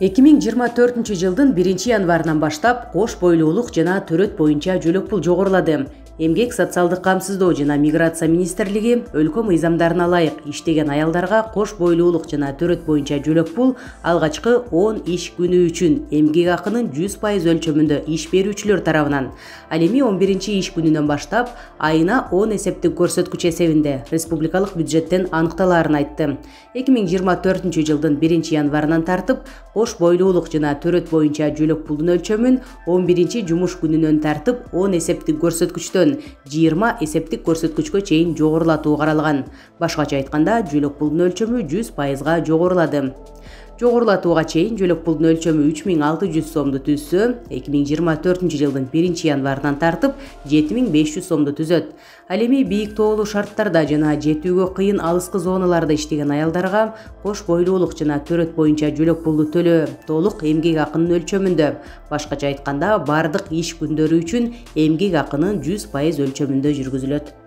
2024 жылдын 1 январынан баштап кош бойлуулук жана төрөт боюнча жөлөк пул жогорулады. Эмгек социалдык камсыздоо жана миграция министрлиги өлкө мыйзамдарына ылайык иштеген аялдарга кош бойлуулук жана төрөт боюнча жөлөк пул алгачкы 10 иш күнү үчүн эмгек акынын 100% өлчөмүндө иш берүүчүлөр тарабынан, ал эми 11-иш күнүнөн баштап айына 10 эсептик көрсөткүч эсебинде республикалык бюджеттен аныкталаарын айтты. 2024 жылдын 1 январынан тартып кош бойлуулук жана төрөт боюнча жөлөк пулдун өлчөмүн 11-жумуш күнүнөн тартып 10 эсептик көрсөткүчтөн 20 эсептик көрсөткүчкө чейин жогорулатуу каралган. Башкача айтканда, жөлөк пулдун өлчөмү 100%га жогорулады. Жогорулатууга чейин жөлөк пулдун өлчөмү 3600 сомду түзсө, 2024 жылдын 1 январынан тартып 7500 сомду түзөт. Ал эми бийик тоолуу шарттарда жана жетүүгө кыйын алыскы зоналарда иштеген аялдарга кош бойлуулук жана төрөт боюнча жөлөк пулду төлөө толук эмгек акынын өлчөмүндө. Башкача айтканда, бардык иш күндөрү үчүн эмгек акынын 100% өлчөмүндө жүргүзүлөт.